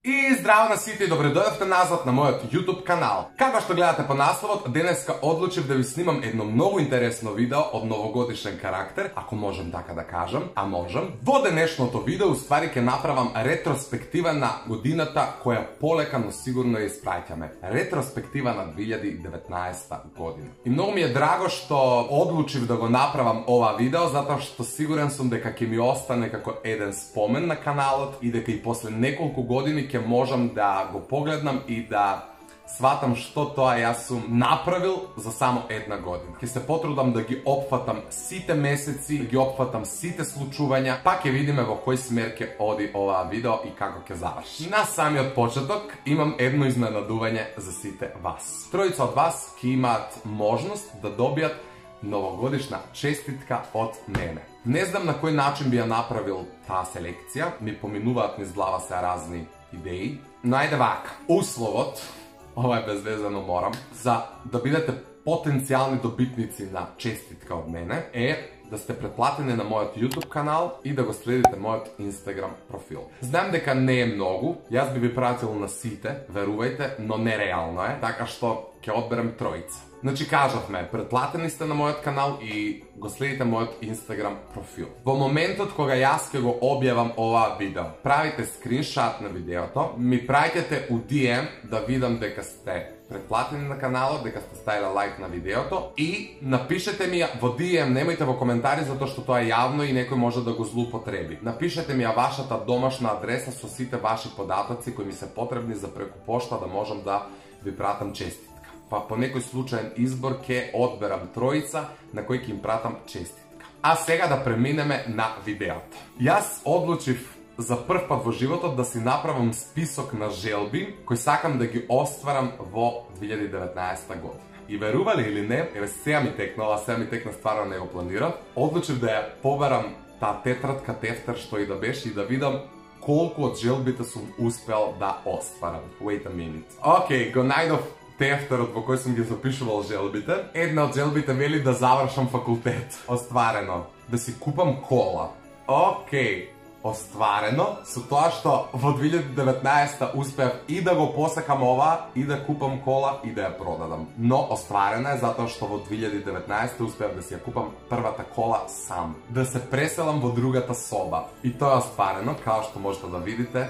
И здраво на сите и добре дојдовте назад на мојот YouTube канал. Како што гледате по насловот, денеска одлучив да ви снимам едно многу интересно видео од новогодишен карактер, ако можам така да кажам, а можам. Во денешното видео уствари ќе направам ретроспектива на годината која полека, но сигурно ја испраќаме. Ретроспектива на 2019 година. И многу ми е драго што одлучив да го направам ова видео, затоа што сигурен сум дека ќе ми остане како еден спомен на каналот и дека и после неколку години ќе можам да го погледнам и да сватам што тоа јас сум направил за само една година. Ќе се потрудам да ги опфатам сите месеци, да ги опфатам сите случувања, па ќе видиме во кој смер ќе оди оваа видео и како ќе заврши. На самиот почеток имам едно изненадување за сите вас. Тројца од вас ќе имаат можност да добијат новогодишна честитка од мене. Не знам на кој начин би ја направил таа селекција, ми поминуваат низ глава се разни идеи, но ајде вака. Условот, ова е безвезено морам, за да бидете потенцијални добитници на честитка од мене е да сте претплатени на мојот YouTube канал и да го следите мојот Instagram профил. Знам дека не е многу, јас би ви пратил на сите, верувајте, но нереално е, така што ќе одберем тројца. Значи кажавме, претплатени сте на мојот канал и го следите мојот Instagram профил. Во моментот кога јас ќе го објавам оваа видео, правите скриншот на видеото, ми праќате у DM да видам дека сте претплатени на каналот, дека сте ставиле лайк на видеото и напишете ми во DM, немојте во коментари затоа што тоа е јавно и некој може да го злоупотреби. Напишете ми ја вашата домашна адреса со сите ваши податоци кои ми се потребни за преку пошта да можам да ви пратам честитка. Па по некој случаен избор ќе одберам тројца на кои ќе им пратам честитка. А сега да преминеме на видеото. Јас одлучив за прв пат во животот да си направам список на желби кои сакам да ги остварам во 2019 година. И верували или не, еве сега ми текна стварно не го планирав, одлучив да ја побарам таа тетрадка, тефтер што и да беше и да видам колку од желбите сум успел да остварам. Wait a minute. Океј, го најдов тефтерот во кој сум ги запишувал желбите. Една од желбите вели да завршам факултет. Остварено. Да си купам кола. Океј. Остварено со тоа што во 2019 успеав и да го посакам ова, и да купам кола, и да ја продадам. Но остварена е затоа што во 2019 успеав да си ја купам првата кола сам. Да се преселам во другата соба. И тоа е остварено, као што можете да видите.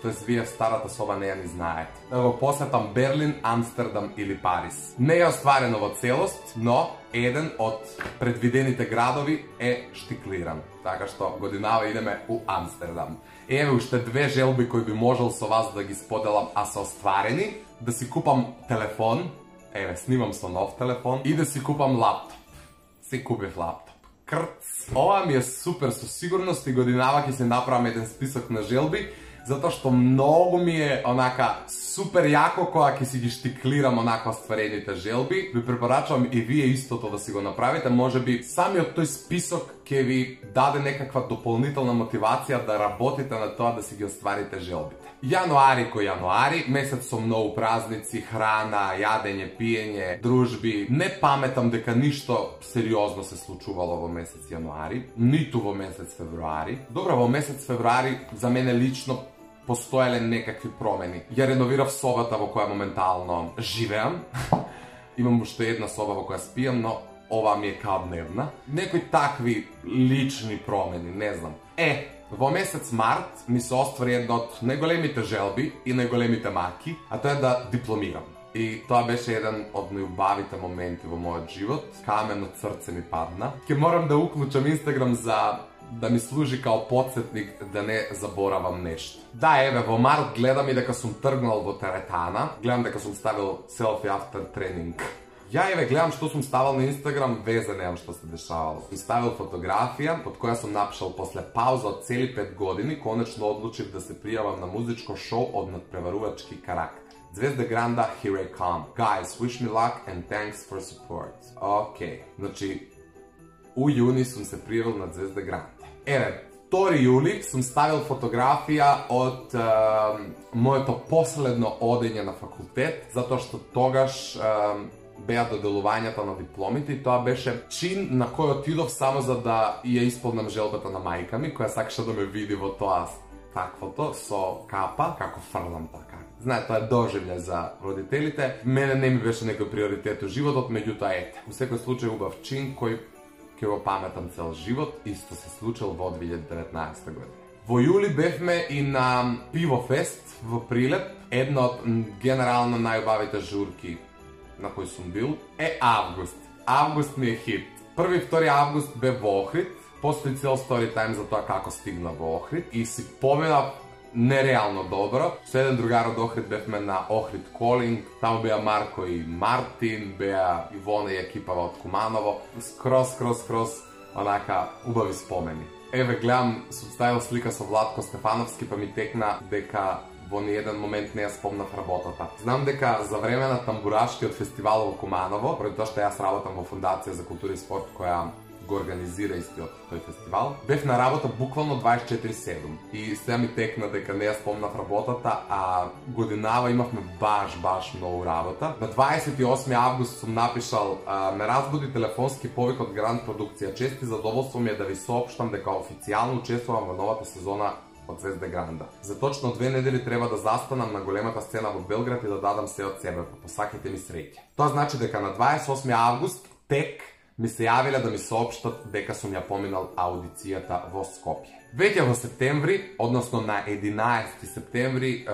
Тоест, вие в старата соба не ја ни знаете. Да го посетам Берлин, Амстердам или Париз. Не е остварено во целост, но еден од предвидените градови е штиклиран. Така што годинава идеме у Амстердам. Еве уште две желби кои би можел со вас да ги споделам, а се остварени. Да си купам телефон, еве снимам со нов телефон, и да си купам лаптоп. Си купив лаптоп. Крц! Ова ми е супер, со сигурност и годинава ќе се направам еден список на желби, затоа што многу ми е онака супер јако кога ќе си ги штиклирам онака остварените желби. Ви препорачувам и вие истото да си го направите, можеби самиот тој список ќе ви даде некаква дополнителна мотивација да работите на тоа да си ги остварите желбите. Јануари кој јануари, месец со многу празници, храна, јадење, пиење, дружби. Не паметам дека ништо сериозно се случувало во месец јануари, ниту во месец февруари. Добро, во месец февруари за мене лично постоеле некакви промени. Ја реновирав собата во која моментално живеам. Имам уште една соба во која спијам, но ова ми е као дневна. Некои такви лични промени, не знам. Во месец март ми се оствари една од најголемите желби и најголемите маки, а тоа е да дипломирам. И тоа беше еден од најубавите моменти во мојот живот. Камен од срце ми падна. Ќе морам да уклучам Инстаграм за да ми служи као подсетник да не заборавам нешто. Да, еве, во март гледам и дека сум тргнал во теретана. Гледам дека сум ставил селфи after тренинг. Ја еве гледам што сум ставил на Инстаграм, везе немам што се дешавало. Сум ставил фотографија под која сум напишал после пауза од цели 5 години, конечно одлучив да се пријавам на музичко шоу од надпреварувачки карактер. Звезда Гранда, Here I Come. Guys, wish me luck and thanks for support. Океј, значи у јуни сум се пријавил на Звезда Гранда. Еве, 2 јули сум ставил фотографија од моето последно одење на факултет, затоа што тогаш беа доделувањата на дипломите и тоа беше чин на кој отидов само за да ја исполнам желбата на мајка ми, која сакаше да ме види во тоа таквото со капа, како фрлам така. Знае, тоа е доживљај за родителите. Мене не ми беше некој приоритет у животот, меѓутоа ете. Во секој случај убав чин кој ќе го паметам цел живот, исто се случил во 2019 година. Во јули бевме и на Пивофест во Прилеп, една од генерално најубавите журки на кој сум бил е август. Август ми е хит. 1 и 2 август бе во Охрид, постои цел story time за тоа како стигна во Охрид и си поминав нереално добро. Со еден другар од Охрид бевме на Охрид Колинг, таму беа Марко и Мартин, беа Ивона и екипава од Куманово, скроз онака убави спомени. Еве гледам, сум ставил слика со Владко Стефановски, па ми текна дека во ниеден момент не ја спомнав работата. Знам дека за време на тамбурашкиот фестивал во Куманово, поради тоа што јас работам во Фондација за култура и спорт која го организира истиот тој фестивал, бев на работа буквално 24/7 и сега ми текна дека не ја спомнав работата, а годинава имавме баш многу работа. На 28 август сум напишал: ме разбуди телефонски повик од Гранд Продукција. Чести задоволство ми е да ви соопштам дека официјално учествувам во новата сезона од Звезде Гранда. За точно 2 недели треба да застанам на големата сцена во Белград и да дадам се од себе, посаките ми среќа. Тоа значи дека на 28 август тек ми се јавиле да ми соопштат дека сум ја поминал аудицијата во Скопје. Веќе во септември, односно на 11 септември,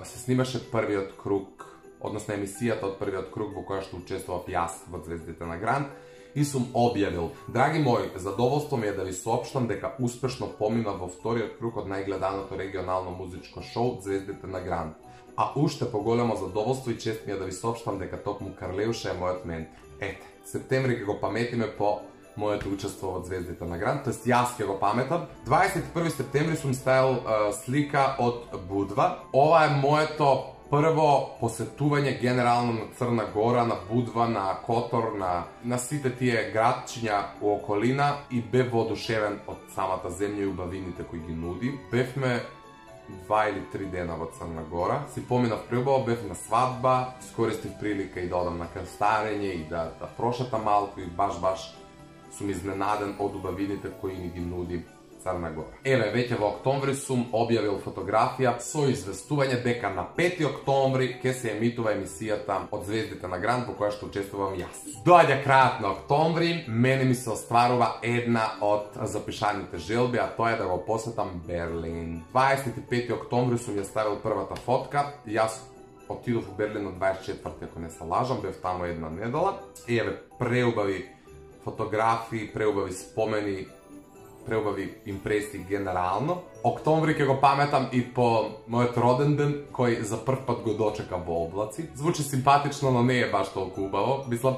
се снимаше првиот круг, односно емисијата од првиот круг во која што учествував јас во Звездите на Гранд и сум објавил: драги мои, задоволство ми е да ви соопштам дека успешно поминав во вториот круг од најгледаното регионално музичко шоу Звездите на Гранд. А уште поголемо задоволство и чест ми е да ви соопштам дека токму Карлеуша е мојот ментор. Ете, септември ќе го паметиме по моето учество во Звездите на Гранд, тоест јас ќе го паметам. 21 септември сум ставил слика од Будва. Ова е моето прво посетување генерално на Црна Гора, на Будва, на Котор, на сите тие градчиња у околина и бев воодушевен од самата земја и убавините кои ги нуди. Бевме 2 или 3 дена во Црна Гора. Си поминав пребаво, бев на свадба, искористив прилика и да одам на крстарење и да прошетам малку и баш сум изненаден од убавините кои ни ги нуди Црна Гора. Еве, веќе во октомври сум објавил фотографија со известување дека на 5 октомври ќе се емитува емисијата од Звездите на Гранд во која што учествувам јас. Доаѓа крајот на октомври, мене ми се остварува една од запишаните желби, а тоа е да го посетам Берлин. 25 октомври сум ја ставил првата фотка. Јас отидов во Берлин на 24, ако не се лажам, бев таму една недела. И еве, преубави фотографии, преубави спомени, преубави импресии генерално. Октомври ќе го паметам и по мојот роден ден, кој за прв пат го дочека во облаци. Звучи симпатично, но не е баш толку убаво. Мислам,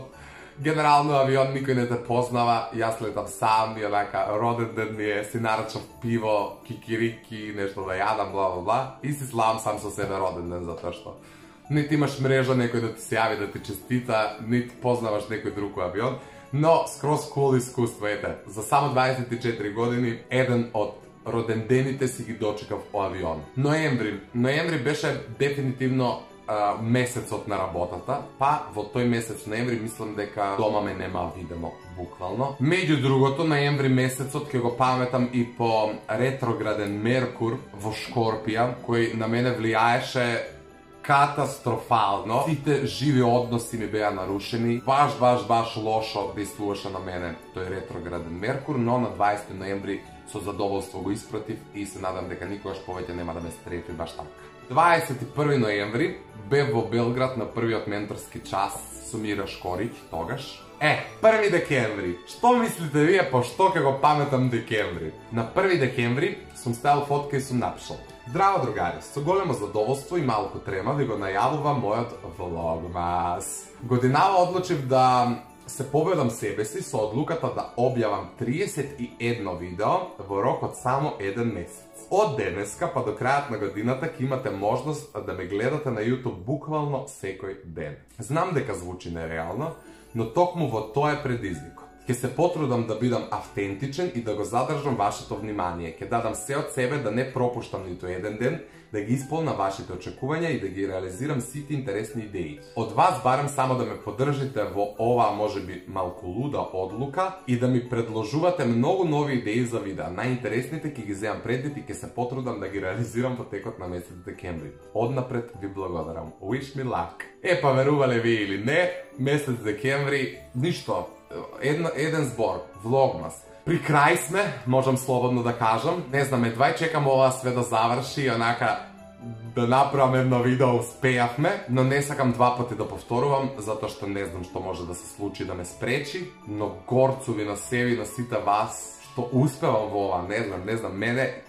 генерално авион никој не те познава, јас летам сам и онака роден ден ми е, си нарачав пиво, кикирики, нешто да јадам, бла, и си славам сам со себе роден ден, затоа што нити имаш мрежа некој да ти се јави да ти честита, нити познаваш некој друг авион. Но, скроз кул искуство, ете, за само 24 години, еден од родендените си ги дочекав о авион. Ноември беше дефинитивно месецот на работата, па во тој месец ноември мислам дека дома ме нема видено, буквално. Меѓу другото, ноември месецот ќе го паметам и по ретрограден Меркур во Шкорпија, кој на мене влијаеше катастрофално. Сите живи односи ми беа нарушени. Баш лошо действуваше на мене тој ретрограден Меркур, но на 20 ноември со задоволство го испратив и се надам дека никогаш повеќе нема да ме стрефи баш така. 21 ноември бев во Белград на првиот менторски час со Мира Шкорик тогаш. 1 декември. Што мислите вие по што ќе го паметам декември? На 1 декември сум ставил фотка и сум напишал: здраво другари, со големо задоволство и малку трема ви го најавувам мојот влогмас. Годинава одлучив да се победам себе си со одлуката да објавам 31 видео во рок од само 1 месец. Од денеска па до крајот на годината ќе имате можност да ме гледате на YouTube буквално секој ден. Знам дека звучи нереално, но токму во тоа е предизвикот. Ке се потрудам да бидам автентичен и да го задржам вашето внимание. Ке дадам се од себе да не пропуштам ниту еден ден, да ги исполна вашите очекувања и да ги реализирам сите интересни идеи. Од вас барам само да ме поддржите во оваа можеби малку луда одлука и да ми предложувате многу нови идеи за видеа. Најинтересните ќе ги земам предвид и ќе се потрудам да ги реализирам во текот на месец декември. Однапред ви благодарам. Wish me luck. Па верувале ви или не, месец декември, ништо. Еден збор, влогмас. При крај сме, можам слободно да кажам. Не знам, едва чекам ова све да заврши и онака да направам едно видео, успеавме, но не сакам два пати да повторувам, затоа што не знам што може да се случи да ме спречи, но горцу ви на себе и на сите вас, што успевам во ова, не знам, мене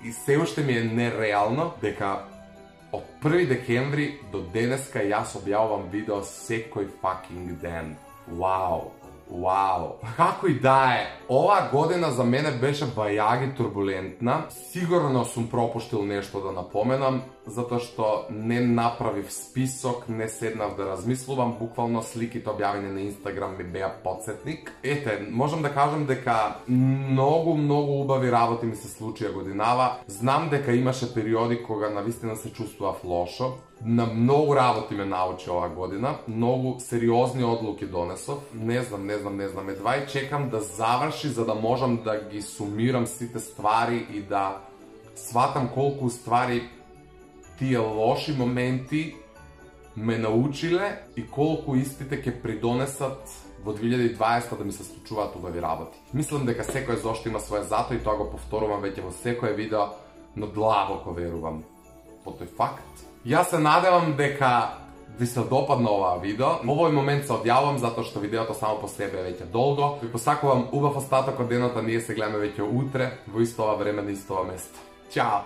и се уште ми е нереално дека од 1 декември до денеска јас објавувам видео секој fucking ден. Вау! Како и да е, оваа година за мене беше бајаги турбулентна. Сигурно сум пропуштил нешто да напоменам, затоа што не направив список, не седнав да размислувам, буквално сликите објавени на Инстаграм ми беа потсетник. Можам да кажам дека многу убави работи ми се случија годинава. Знам дека имаше периоди кога навистина се чувствував лошо. На многу работи ме научи оваа година, многу сериозни одлуки донесов. Не знам, едва и чекам да заврши за да можам да ги сумирам сите ствари и да сватам колку ствари тие лоши моменти ме научиле и колку истите ќе придонесат во 2020 да ми се случуваат убави работи. Мислам дека секој зошто има своје зато и тоа го повторувам веќе во секое видео, но длабоко верувам во тој факт. Јас се надевам дека ви се допадна оваа видео. Овој момент се одјавам затоа што видеото само по себе е веќе долго. Ви посакувам убав остаток од денот, а ние се гледаме веќе утре во исто ова време на исто ова место. Чао!